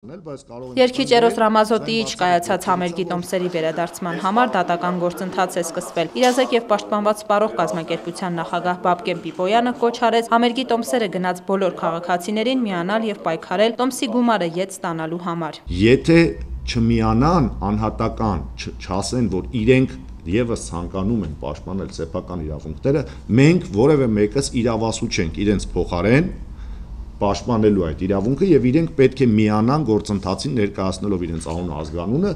Երգիչ Էրոս Ռամազոտիի չկայացած համերգի տոմսերի վերադարձման համար դատական գործընթաց է սկսվել։ Իրազեկ և պաշտպանված սպառող կազմակերպության նախագահ Բաբկեն Պիպոյանը կոչ արեց համերգի տոմսերը գնած բոլոր քաղաքացիներին միանալ և պայքարել տոմսի գումարը ետ ստանալու համար։ Եթե չմիանան անհատական, չասեն, որ իրենք ևս ցանկանում են պաշտպանել սեփական իրավունքները, մենք որևէ մեկս իրավասու չենք իրենց փոխարեն պաշտպանելու այդ իրավունքը եւ իրենք պետք է միանան գործընթացին ներկայացնելով իրենց անունը ազգանունը